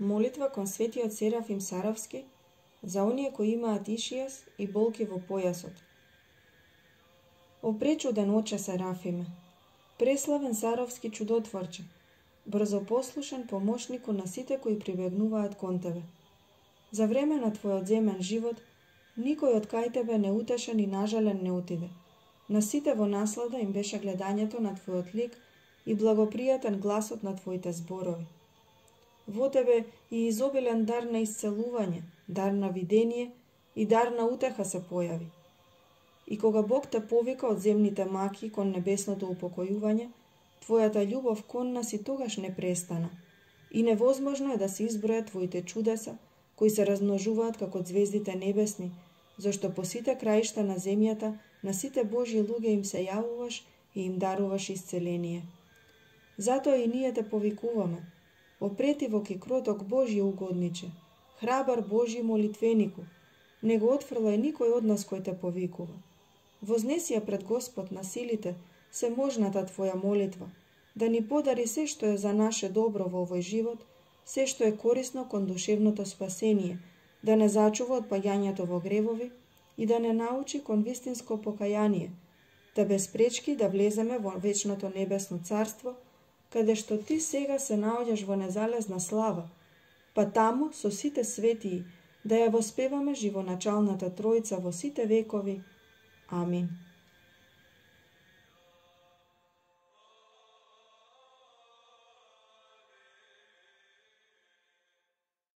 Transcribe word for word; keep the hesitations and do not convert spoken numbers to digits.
Молитва кон светиот Серафим Саровски за оние кои имаат ишијас и болки во појасот. О пречуден оче Серафиме, преславен Саровски чудотворче, брзопослушен помошнику на сите кои прибегнуваат кон тебе. За време на твојот земен живот, никој од кај тебе не утешен и нажален не отиде. На сите во наслада им беше гледањето на твојот лик и благопријатен гласот на твоите зборови. Во тебе и изобилен дар на исцелување, дар на видение и дар на утеха се појави. И кога Бог те повика од земните маки кон небесното упокојување, твојата љубов кон нас и тогаш не престана. И невозможно е да се избројат твоите чудеса, кои се размножуваат како звездите небесни, зашто по сите краишта на земјата, на сите Божји луѓе им се јавуваш и им даруваш исцеление. Затоа и ние те повикуваме, опретивок и кроток Божји угодниче, храбар Божји молитвенику, не го отфрлај никој од нас кој те повикува. Вознеси ја пред Господ на силите, се можната твоја молитва, да ни подари се што е за наше добро во овој живот, се што е корисно кон душевното спасение, да не зачува од паѓањето во гревови и да не научи кон вистинско покаяние, да без пречки да влеземе во вечното небесно царство, каде што ти сега се наоѓаш во незалезна слава, па таму со сите светии да ја воспеваме живоначалната Тројца во сите векови. Амин.